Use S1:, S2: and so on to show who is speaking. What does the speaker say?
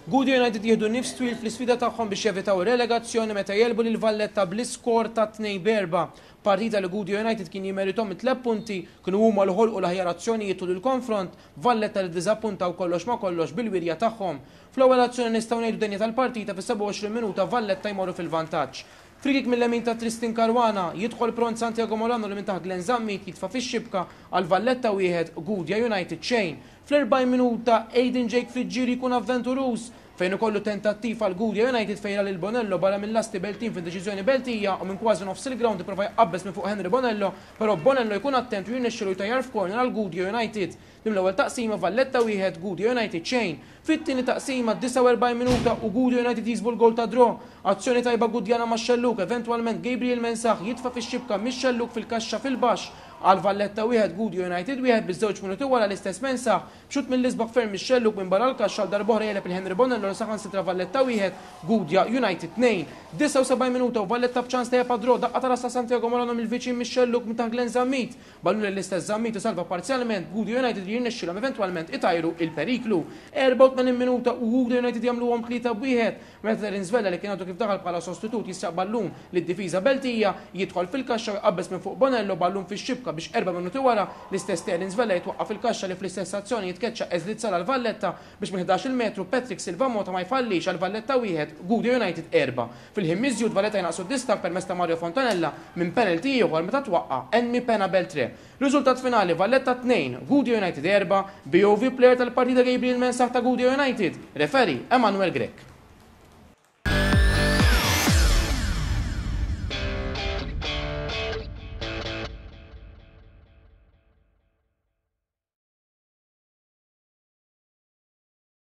S1: Gudja United jieħdu nifs twil fl-isfida tagħhom biex jevitaw relegazzjoni meta jegħlbu lil Valletta bl-iskor ta' 2-4. Partita li Gudja United kien jimeritom it-tliet punti, kienu huma li ħolqu l-aħjar azzjonijiet tul il-konfront, Valletta li ddiżappuntaw kollox ma' kollox bil-wirja tagħhom. Fl-ewwel azzjoni nistgħu ngħidu denja tal-partita fis-27 minuta Valletta jmorru fil-vantaġġ. Free-kick mil-lemin ta' Tristan Caruana, jidħol pront Santiago Molano li minn taħt Glenn Zammit jitfa' fix-xibka għal Valletta wieħed, Gudja United xejn. Fl-40 minuta, Aiden Jake Friggieri jkun avventuruż fejn ikollu tentattiv għal Gudja United fejn ra lil Bonello barra mil-lasti Beltin f'indeċiżjoni Beltija u minn kważi nofs il-grawnd ipprova jqabbeż minn fuq Henry Bonello però Bonello jkun attent u jirnexxilu jtajjar f'corner għal Gudja United. Din l-ewwel taqsima Valletta wieħed, Gudja United xejn. Fit-tieni taqsima, 49 minuta u Gudja United jiksbu l-gowl tad-draw. Azzjoni tajba Gudjana max-xellug, eventwalment Gabriel Mensah jitfa' fix-xibka mix-xellug fil-kaxxa fil-baxx għal Valletta wieħed, Gudja United wieħed biż-żewġ minuti wara l-istess Mensah b'xutt mill-isbaħ ferm mix-xellug minn barra l-kaxxa għal darb'oħra jegħleb lil Henry Bonello li saħansitra Valletta wieħed, Gudja United tnejn. 79 minuta u Valletta b'ċans tajjeb għad-draw, daqqa ta' ras ta' Santiago Molano mill-viċin mix-xellug minn taħt Glenn Zammit. Ballun lil l-istess Zammit isalva parzjalment, b'Gudja United li jirnexxilhom eventwalment itajru il-periklu. 84 minuta u Gudja United jagħmluhom 3 b'wieħed meta Terence Vella li kien għadu kif daħal bħala sostitut jisraq ballun lid-difiża Beltija, jidħol fil-kaxxa u jqabbeż minn fuq Bonello ballun fix-xibka biex erba' minuti wara l-istess Terence Vella jitwaqqa' fil-kaxxa li fl-istess azzjoni jitkeċċa Eslit Sala għal Valletta biex minn 11-il metru Patrick Silva Mota ma jfallix għal Valletta wieħed, Gudja United erba'. Fil-ħin miżjud Valletta jnaqqsu d-distakk permezz ta' Mario Fontanella minn penalty ieħor meta twaqqa' Enmi Pena Beltre. Riżultat finali Valletta 2, Gudja United 4, BOV player tal-partita Gabriel Mensah ta' Gudja United, referee Emanuel Grech.